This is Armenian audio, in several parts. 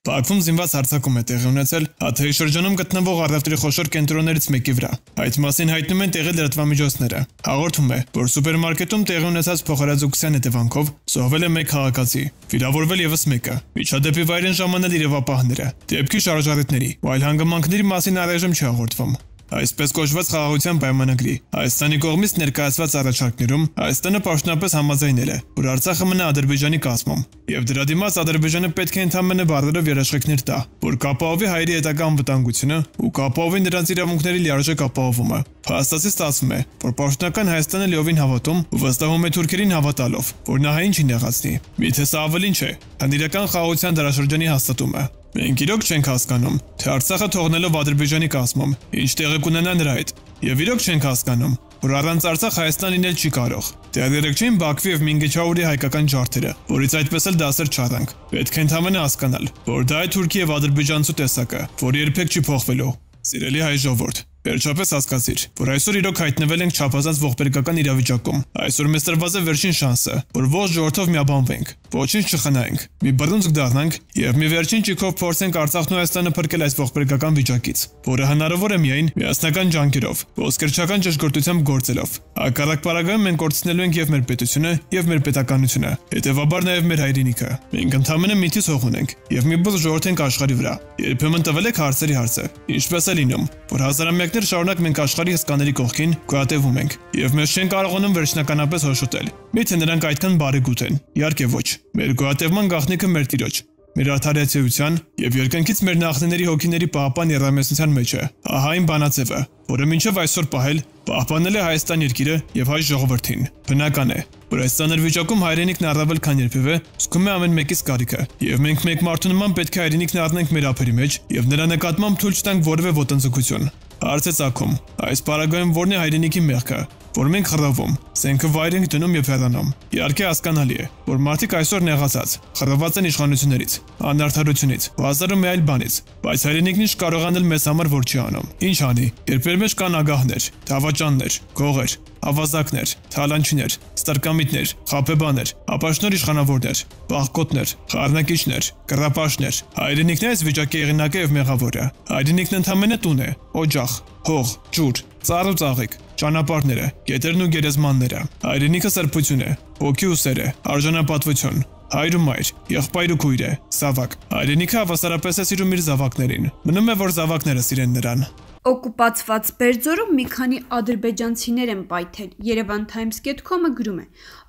Բաքվում զինված հարձակում է տեղի ունեցել Հաթայի շրջանում գտնվող առևտրի խոշոր կենտրոններից մեկի վրա։ Այդ մասին հայտնում են տեղի լրատվամիջոցները։ Հաղորդում է, որ սուպերմարկետում տեղի ունեցած փոխհրաձգության հետևանքով զոհվել է 1 քաղաքացի, վիրավորվել եւս մեկը։ Միջադեպի վայր են ժամանել իրավապահները։ Դեպքի շարժառիթների ու այլ հանգամանքների մասին առայժմ չի հաղորդվում։ Այսպես կոչված խաղաղության պայմանագրի Հայաստանի կողմից ներկայացված առաջարկներում Հայաստանը պաշտոնապես համաձայնել է, որ Արցախը մնա Ադրբեջանի կազմում, եւ դրա դիմաց Ադրբեջանը պետք է ընդհանրապես բարերով երաշխիքներ տա, որ կապահովի հայերի հետագա անվտանգությունը ու կապահովի նրանց իրավունքների լիարժեք ապահովումը։ Փաստացի ստացվում է, որ պաշտոնական Հայաստանը լիովին հավատում ու վստահում է թուրքերին հավատալով, որ նա հային չի նեղացնի։ Միթե սա ավելին չէ, քան իրական խաղաղության դարաշրջանի հաստատումը։ Մենք իրոք չենք հասկանում, թե Արցախը թողնելով Ադրբեջանի կազմում, ինչ տեղի կունենա նրա հետ, եւ իրոք չենք հասկանում, որ առանց Արցախ Հայաստան լինել չի կարող։ Դեռ չէին Բաքվի եւ Մինգեչաուրի հայկական ջարդերը, որից այդպես էլ դասեր չառանք։ Պետք է ընդհանրապես հասկանալ, որ դա է Թուրքիա եւ ադրբեջանցու տեսակը, որը երբեք չի փոխվելու։ Սիրելի հայ ժողովուրդ, վերջապես հասկացիր, որ այսօր իրոք հայտնվել ենք չափազանց ողբերգական իրավիճակում։ Այսօր մեզ տրված է վերջին շանսը, որ ողջ ժողովրդով միաբանվենք, ոչինչ չխնայենք, մի բռունցք դառնանք եւ մի վերջին ճիգով փորձենք Արցախն ու Հայաստանը փրկել այս ողբերգական վիճակից, որը հնարավոր է միայն միասնական ջանքերով, ոսկերչական ճշգրտությամբ գործելով։ Հակառակ պարագայում մենք կորցնելու ենք եւ մեր պետությունը, եւ մեր պետականությունը, հետեւաբար նաեւ մեր հայրենիքը։ Մենք ընդհանրապես միտից հող ունենք եւ մի բուխ ժողովուրդ ենք աշխարհի վրա։ Երբեմն տվել եք հարցերի հարցը, ինչպես է լինում, որ հազարամյակներ շարունակ մենք աշխարհի հսկաների կողքին գոյատևում ենք եւ մեզ չեն կարողանում վերջնականապես հոշոտել։ Միթե նրանք այդքան բարեգութ են։ Իհարկե ոչ։ Մեր գոյատևման գաղտնիքը մեր Տիրոջ, մեր արդարացիության եւ երկնքից մեր նախնիների հոգիների պահապան երամեսնության մեջ է։ Ահա այն բանաձևը, որը մինչև այսօր պահել պահպանել է Հայաստան երկիրը եւ հայ ժողովրդին։ Բնական է, որ այս ցաներ վիճակում հայրենիքն առավել քան երբևէ զգում է ամեն մեկից կարիքը, եւ մենք մեկ մարդու նման պետք է հայրենիքն առնենք մեր ափերի մեջ եւ նրա նկատմամբ թույլ չտանք որևէ ոտնձգություն։ Հարց է ծագում, այս պարագայում որն է հայրենիքի մեղքը, որ մենք խռավում, սենքը վայր ենք դնում եւ հեռանում։ Իհարկե հասկանալի է, որ մարդիկ այսօր նեղացած, խռաված են իշխանություններից, անարդարությունից, հազար ու մի այլ բանից, բայց հայրենիքն ինչ կարող անել մեզ համար, որ չի անում։ Ինչ անի, երբ մեր մեջ կան ագահներ, դավաճաններ, գողեր, ավազակներ, թալանչիներ, ստրկամիտներ, խաբեբաներ, ապաշնոր իշխանավորներ, բաղկոտներ, խառնակիչներ, կռապաշտներ, հայրենիքն է այս վիճակի եղանակը եւ մեղավորը։ Հայրենիքն ընդհանրապես տուն է, օջախ, հող, ջուր, ծառ ու ծաղիկ, ճանապարհները, գետերն ու գերեզմանները։ Հայրենիքը սրբություն է, ոգի ու սեր է, արժանապատվություն, հայր ու մայր, եղբայր ու քույր է, զավակ։ Հայրենիքը հավասարապես է սիրում իր զավակներին։ Մնում է, որ զավակները սիրեն նրան։ Օկուպացված Բերձորում մի քանի ադրբեջանցիներ են պայթել։ Yerevan Times.com-ը գրում է.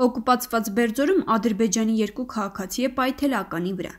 Օկուպացված Բերձորում Ադրբեջանի 2 քաղաքացի է պայթել ականի վրա։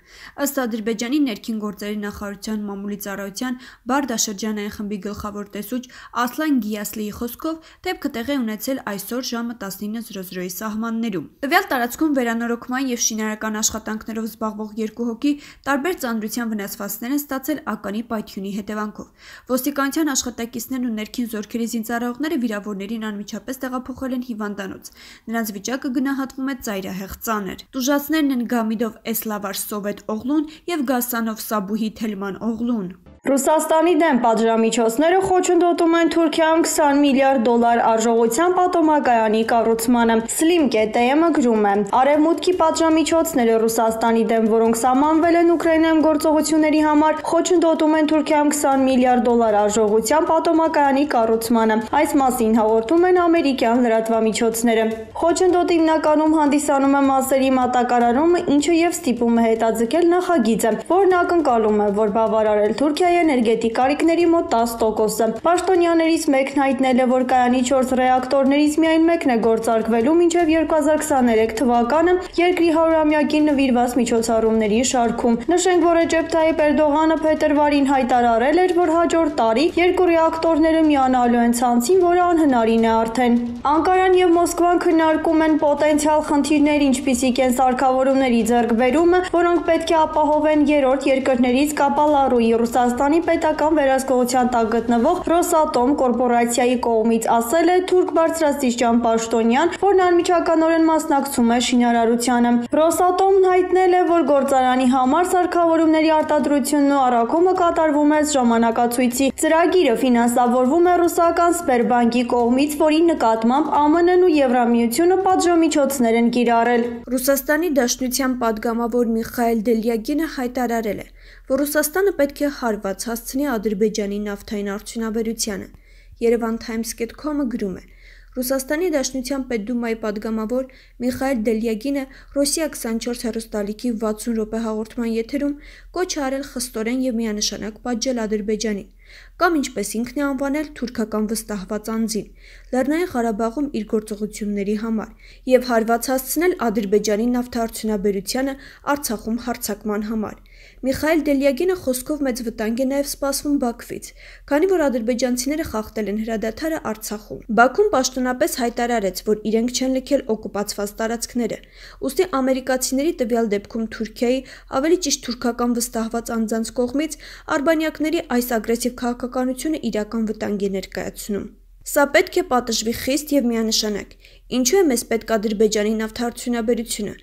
Ըստ Ադրբեջանի ներքին գործերի նախարարության մամուլի ծառայության Բարդաշրջանային խմբի գլխավոր տեսուչ Ասլան Գիասլիի խոսքով դեպքը տեղի ունեցել այսօր ժամը 19:00-ի սահմաններում։ Տվյալ տարածքում վերանորոգման եւ շինարարական աշխատանքներով զբաղվող 2 հոգի տարբեր ծանրության վնասվածքներ են ստացել ականի պայթյունի հետևանքով։ Ոստիկանության աշխատակիցներն ու ներքին զորքերի զինծառայողները վիրավորներին անմիջապես տեղափոխել են հիվանդանոց։ Նրանց վիճակը գնահատվում է ծայրահեղ ծանր։ Տուժածներն են Գամիդով Էսլավար Սովետ Օղլուն եւ Գասանով Սաբուհի Թելման Օղլուն։ Ռուսաստանի դեմ պատժամիջոցները խոչընդոտում են Թուրքիայում $20 միլիարդ արժողության պատոմակայանի կառուցմանը։ Slim.am-ը գրում է. Արևմուտքի պատժամիջոցները Ռուսաստանի դեմ, որոնք սահմանվել են Ուկրաինայում գործողությունների համար, խոչընդոտում են Թուրքիայում $20 միլիարդ արժողության պատոմակայանի կառուցմանը։ Այս մասին հաղորդում են ամերիկյան լրատվամիջոցները։ Խոչընդոտը հիմնականում հանդիսանում է մասերի մատակարարումը, ինչը եւ ստիպում է հետաձգել նախագիծը, որն ակնկալում է, որ բավարարել Թուրքիայի էներգետիկ կարիքների մոտ 10%-ը։ Պաշտոնյաներից մեկն հայտնել է, որ կայանի 4 ռեակտորներից միայն մեկն է գործարկվելու մինչև 2023 թվականը երկրի 100-ամյակին նվիրված միջոցառումների շարքում։ Նշենք, որ Ռեջեփ Թայիփ Էրդողանը փետրվարին հայտարարել էր, որ հաջորդ տարի 2 ռեակտորները միանալու են ցանցին, որը անհնարին է արդեն։ Անկարան եւ Մոսկվան քննարկում են պոտենցիալ խնդիրներ, ինչպիսիք են սարքավորումների ձեռքբերումը, որոնք պետք է ապահովեն երրորդ երկրներից Կապալառուի Ռուսաստանի պետական վերահսկողության տակ գտնվող Ռոսատոմ կորպորացիայի կողմից, ասել է թուրք բարձրաստիճան պաշտոնյան, որն անմիջականորեն մասնակցում է շինարարությանը։ Ռոսատոմն հայտնել է, որ գործարանի համար սարքավորումների արտադրությունն ու առաքումը կատարվում է ժամանակացույցի։ Ծրագիրը ֆինանսավորվում է ռուսական Սբերբանկի կողմից, որի նկատմամբ ԱՄՆ-ն ու Եվրամիությունը պատժամիջոցներ են կիրառել։ Ռուսաստանի Դաշնության պատգամավոր Միխայել Դելյագինը հայտարարել է, որ Ռուսաստանը պետք է հարված հասցնի Ադրբեջանի նավթային արդյունաբերությանը։ Yerevan Times.com-ը գրում է. Ռուսաստանի Դաշնության Պետդումայի падգամավոր Միխայել Դելյագինը Ռոսիա 24 հեռուստալիքի 60 րոպե հաղորդման եթերում կոչ է արել խստորեն եւ միանշանակ պատժել Ադրբեջանին, կամ ինչպես ինքն է անվանել թուրքական վստահված անձին, Լեռնային Ղարաբաղում իր գործողությունների համար եւ հարված հասցնել Ադրբեջանի նավթարդյունաբերությանը Արցախում հարձակման համար։ Միխայել Դելյագինը խոսքով մեծ վտանգ է նաև սպասվում Բաքվից, քանի որ ադրբեջանցիները խախտել են հրադադարը Արցախում։ Բաքուն պաշտոնապես հայտարարեց, որ իրենք չեն լքել օկուպացված տարածքները, ուստի ամերիկացիների տվյալ դեպքում Թուրքիայի, ավելի ճիշտ թուրքական վստահված անձանց կողմից արբանյակների այս ագրեսիվ քաղաքականությունը իրական վտանգ է ներկայացնում։ Սա պետք է պատժվի խիստ եւ միանշանակ։ Ինչու է մեզ պետք Ադրբեջանի նավթարդյունաբերությունը։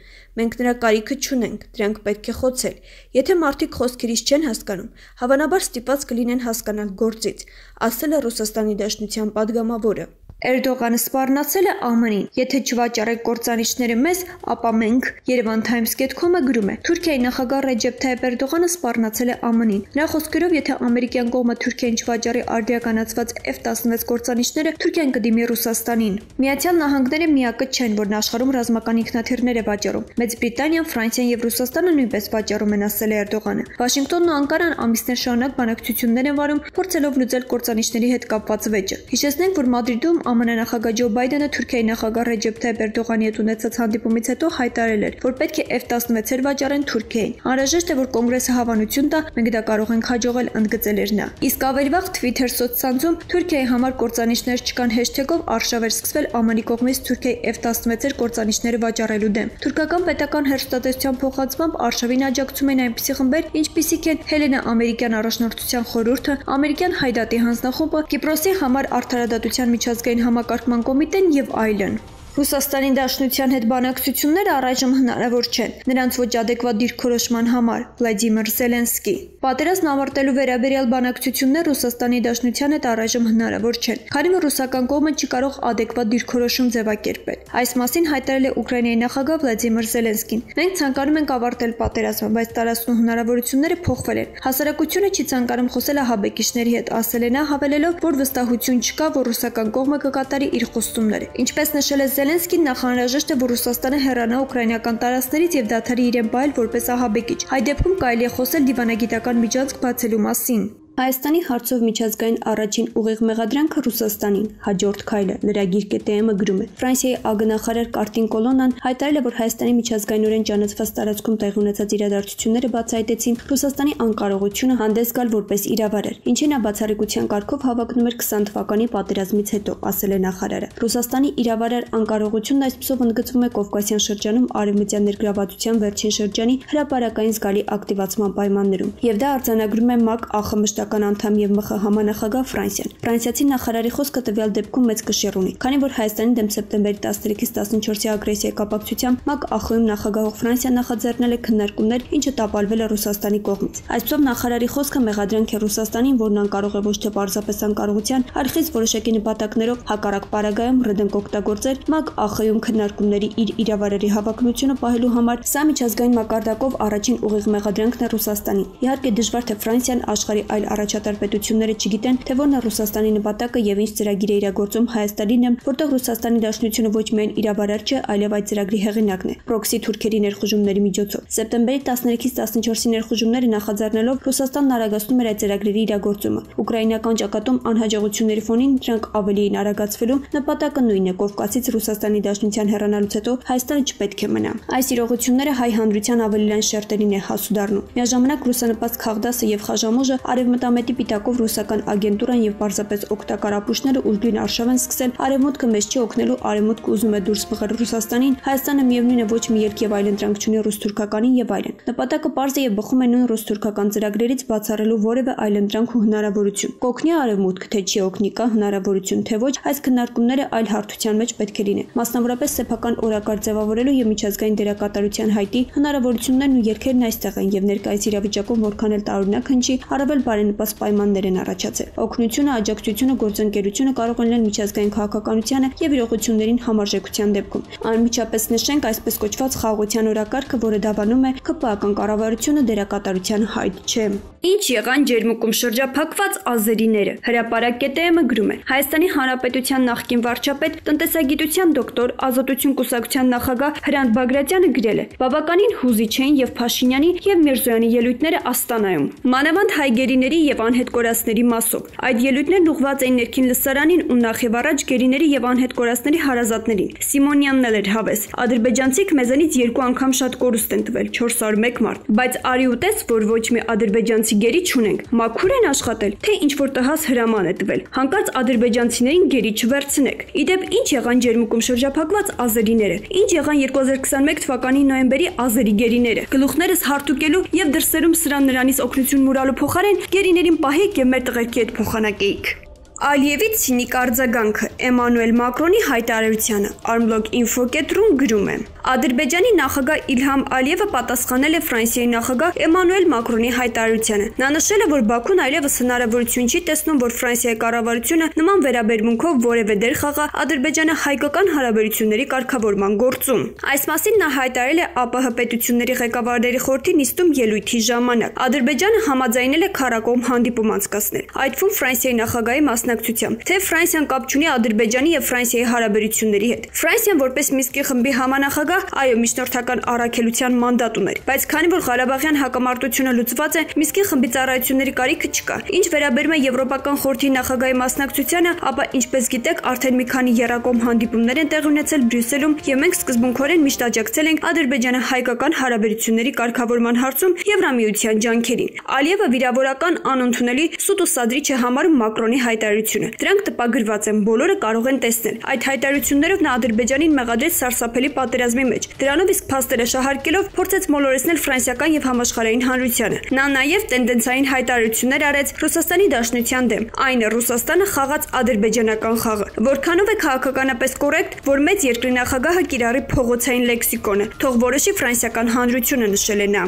Մենք նրա կարիքը չունենք, դրանք պետք է խոցել։ Եթե մարդիկ խոսքերից չեն հասկանում, հավանաբար ստիպված կլինեն հասկանալ գործից, ասել է Ռուսաստանի Դաշնության падգամավորը։ Էրդողանը սպառնացել է ԱՄՆ-ին։ Եթե չվաճառեք կործանիչները մեզ, ապա մենք, Yerevan Times.com-ը գրում է, Թուրքիայի նախագահ Ռեջեփ Թայիփ Էրդողանը սպառնացել է ԱՄՆ-ին։ Նրա խոսքերով, եթե ամերիկյան կողմը Թուրքիային չվաճառի արդիականացված F-16 կործանիչները, Թուրքիան կդիմի Ռուսաստանին։ Միացյալ Նահանգները միակը չեն, որն աշխարհում ռազմական ինքնաթիռներ է վաճառում։ Մեծ Բրիտանիան, Ֆրանսիան եւ Ռուսաստանը նույնպես վաճառում են, ասել է Էրդողանը։ Վաշինգտոնն ու Անկարան ամիսներ շարունակ բանակցություններ են վարում, փորձելով լուծել կործանիչների հետ կապված վեճը։ Հիշեցնենք, որ Մադրիդում ԱՄՆ նախագահ Ջո Բայդենը Թուրքիայի նախագահ Ռեջեփ Թայիփ Էրդողանի հետ ունեցած հանդիպումից հետո հայտարարել էր, որ պետք է F-16-եր վաճառեն Թուրքիային։ Անհրաժեշտ է, որ կոնգրեսը հավանություն տա, մենք դա կարող ենք հաջողել, ընդգծել էր նա։ Իսկ ավելի վաղ Twitter սոցցանցում Թուրքիայի համար կործանիչներ չկան հեշթեգով արշավ էր սկսվել ԱՄՆ-ի կողմից Թուրքիայի F-16-եր կործանիչները վաճառելու դեմ։ Թուրքական պետական հեռուստատեսության փոխանցմամբ արշավին աջակցում են այնպիսի խմբեր, ինչպիսիք են Հելենա ամերիկյան առաջնորդության խորհուրդը, ամերիկյան Հայդատի հանձնախումբը, Կիպրոսի համար արդարադատության միջազգային համակարգման կոմիտեն եւ այլն։ Ռուսաստանի Դաշնության հետ բանակցությունները առայժմ հնարավոր չեն, նրանց ոչ ադեկվատ դիրքորոշման համար, Վլադիմիր Զելենսկի։ Պատերազմն ավարտելու վերաբերյալ բանակցություններ Ռուսաստանի Դաշնության հետ առայժմ հնարավոր չեն, քանի որ ռուսական կողմը չի կարող ադեկվատ դիրքորոշում ձևակերպել։ Այս մասին հայտարարել է Ուկրաինայի նախագահ Վլադիմիր Զելենսկին։ Մենք ցանկանում ենք ավարտել պատերազմը, բայց տարածքն ու հնարավորությունները փոխվել են։ Հասարակությունը չի ցանկանում խոսել ահաբեկիչների հետ, ասել է նա, հավելելով, որ վստահություն չկա, որ ռուսական կողմը կկատարի իր խոստումները։ Ինչպես նշել է Զելենսկին, նախանրաժեշտ է, որ Ռուսաստանը հեռանա ուկրաինական տարածքներից եւ դադարի իրեն պահել որպես ահաբեկիչ։ Այդ դեպքում կարելի է խոսել դիվանագիտական միջանցք բացելու մասին։ Հայաստանի հարցով միջազգային առաջին ուղիղ մեղադրանքը Ռուսաստանին, հաջորդ քայլը, լրագիր.am-ը գրում է։ Ֆրանսիայի ԱԳ-նախարար Կարտին Կոլոնան հայտարարել է, որ Հայաստանի միջազգայինորեն ճանաչված տարածքում տեղի ունեցած իրադարձությունները բացահայտեցին Ռուսաստանի անկարողությունը հանդես գալ որպես իրավարար, ինչին նա բացառիկության կարգով հավակնում էր 20 թվականի պատերազմից հետո, ասել է նախարարը։ Ռուսաստանի իրավարար անկարողությունն այսպիսով ընդգծվում է Կովկասյան շրջանում արևմտյան ներգրավվածության վերջին շրջանի հրապարակային զգալի ակտիվացման պայմաններում, եւ դա արձանագրում է ՄԱԿ ԱԽՄՇ անդամ եւ ՄԽ համանախագահ Ֆրանսիան։ Ֆրանսիացի նախարարի խոսքը տվյալ դեպքում մեծ կշիռ ունի, քանի որ Հայաստանի դեմ սեպտեմբերի 13-ից 14-ի ագրեսիայի կապակցությամբ ՄԱԿ ԱԽ-ում նախագահող Ֆրանսիան նախաձեռնել է քննարկումներ, ինչը տապալվել է Ռուսաստանի կողմից։ Այսպիսով նախարարի խոսքը մեղադրանք է Ռուսաստանին, որն անկարող է ոչ թե պարզապես անկարողության, այլ խիստ որոշակի նպատակներով հակառակ պարագայում ռդենք օգտագործել ՄԱԿ ԱԽ-ում քննարկումների իր իրավարարի հավակնությունը պահելու համար։ Սա միջազգային մակարդակով առաջին ուղիղ մեղադրանքն է Ռուսաստանին։ Իհարկե դժվար թե Ֆրանսիան աշխարհի այլ առաջատար պետությունները չգիտեն, թե որն է Ռուսաստանի նպատակը եւ ինչ ծրագիր է իրագործում Հայաստանին եմ, որտեղ Ռուսաստանի Դաշնությունը ոչ միայն իրավարար չէ, այլև այդ ծրագրի հեղինակն է։ Պրոքսի թուրքերի ներխուժումների միջոցով։ Սեպտեմբերի 13-ից 14-ի ներխուժումները նախաձեռնելով Ռուսաստանն արագացնում էր այդ ծրագրերի իրագործումը։ Ուկրաինական ճակատում անհաջողությունների ֆոնին դրանք ավելի են արագացվելու, նպատակը նույնն է՝ Կովկասից Ռուսաստանի Դաշնության հեռանալուց հետո Հայաստանը չպետք է մնա։ Այս իրողությունները հայ հանրության ավելի լայն շերտերին է հասու դառնում։ Միաժամանակ ռուսանպաստ Խաղդասը եւ Խաժամուժը արևմտամետի պիտակով ռուսական ագենտուրան եւ պարզապես օգտակար ապուշները ուժգին արշավ են սկսել արևմուտքը մեզ չի օգնելու, արևմուտքը ուզում է դուրս մղել Ռուսաստանին, Հայաստանը միևնույն է ոչ մի ելք եւ այլընտրանք չունի ռուս-թուրքականին եւ այլն։ Նպատակը պարզ է եւ բխում է նույն ռուս-թուրքական ծրագրերից բացառելու որևէ այլընտրանք ու հնարավորություն։ Կօգնի արևմուտքը, թե չի օգնի, կա հնարավորություն, թե ոչ, այս քննարկումները այլ հարթության մեջ պետք է լինեն։ Մասնավորապես սեփական օրակարգ ձևավորելու եւ միջազգային դերակատարության հայտի հնարավորություններն ու ելքերն այստեղ են եւ ներկայիս իրավիճակում որքան էլ տարօրինակ հնչի, առավել բարենպաստ աննպաստ պայմաններ են առաջացել։ Օգնությունը, աջակցությունը, գործընկերությունը կարող են լինել միջազգային քաղաքականությանը եւ իրողություններին համարժեքության դեպքում։ Անմիջապես նշենք այսպես կոչված խաղաղության օրակարգը, որը դավանում է ԿՊԱ-ական կառավարությունը դերակատարության հայտ չէ։ Ինչ եղան ջերմուկում շրջափակված ազերիները։ Հրապարակ.am-ը գրում է. Հայաստանի Հանրապետության նախկին վարչապետ, տնտեսագիտության դոկտոր, ազատություն կուսակցության նախագահ Հրանտ Բագրատյանը գրել է. Բավականին հուզիչ էին եւ Փաշինյանի եւ Միրզոյանի ելույթները Աստանայում, մանավանդ հայ գերիների եւ անհետ կորածների մասով։ Այդ ելույթներն ուղղված էին ներքին լսարանին ու նախ եւ առաջ գերիների եւ անհետ կորածների հարազատներին։ Սիմոնյանն էլ էր հավես։ Ադրբեջանցիք մեզանից 2 անգամ շատ կորուստ են տվել, 401 մարդ, բայց արի ու տես, որ ոչ մի ադրբեջանցի գերի չունենք։ Մաքուր են աշխատել, թե ինչ որ տհաս հրաման է տվել։ Հանկարծ ադրբեջանցիներին գերի չվերցնեք։ Իդեպ ինչ եղան ջերմուկում շրջափակված ազերիները։ Ինչ եղան 2021 թվականի նոյեմբերի ազերի գերիները։ Գլուխներս հարթուկելու եւ դրսերում սրան նրանից օգնություն մուրալու փոխարեն գերիներին պահեք եւ մեր տղերքի հետ փոխանակեիք։ Ալիևի ցինիկ արձագանքը Էմանուել Մակրոնի հայտարարությանը Armblog.info.ru-ն գրում է. Ադրբեջանի նախագահ Իլհամ Ալիևը պատասխանել է Ֆրանսիայի նախագահ Էմանուել Մակրոնի հայտարարությանը։ Նա նշել է, որ Բաքուն այլևս հնարավորություն չի տեսնում, որ Ֆրանսիայի կառավարությունը նման վերաբերմունքով որևէ դեր խաղա ադրբեջանա-հայկական հարաբերությունների կարգավորման գործում։ Այս մասին նա հայտարարել է ԱՊՀ պետությունների ղեկավարների խորհրդի նիստում ելույթի ժամանակ։ Ադրբեջանը համաձայնել է քառակողմ հանդիպում անցկացնել, այդ թվում Ֆրանսիայի նախագահի մասնակցությամբ, թե Ֆրանսիան կապ չունի Ադրբեջանի եւ Ֆրանսիայի հարաբերությունների հետ։ Ֆրանսիան որպես Մինսկի խմբի համանախագահ, այո, միջնորդական առաքելության մանդատ ուներ, բայց քանի որ Ղարաբաղյան հակամարտությունը լուծված է, Մինսկի խմբի ծառայությունների կարիքը չկա։ Ինչ վերաբերում է Եվրոպական խորհրդի նախագահի մասնակցությանը, ապա ինչպես գիտեք, արդեն մի քանի եռակողմ հանդիպումներ են տեղի ունեցել Բրյուսելում, եւ մենք սկզբունքորեն միշտ աջակցել ենք ադրբեջանա-հայկական հարաբերությունների կարգավորման հարցում Եվրամիության ջանքերին։ Ալիևը վիրավորական, անընդունելի, սուտ ու սադրիչ է համարում Մակրոնի հայտարարությունը։ Դրանք տպագրված են, բոլորը կարող են տեսնել։ Այդ հայտարարություններով նա Ադրբեջանին մեղադրեց սարսափելի պատերազմի մեջ։ Դրանով իսկ փաստերը շահարկելով փորձեց մոլորեցնել ֆրանսիական եւ համաշխարհային հանրությանը։ Նա նաեւ տենդենսային հայտարարություններ արեց Ռուսաստանի Դաշնության դեմ։ Այն է Ռուսաստանը խաղաց ադրբեջանական խաղը։ Որքանով է քաղաքականապես կոռեկտ, որ մեծ երկրի նախագահը կիրառի փողոցային լեքսիկոնը, թող որոշի ֆրանսիական հանրությունը, նշել է նա։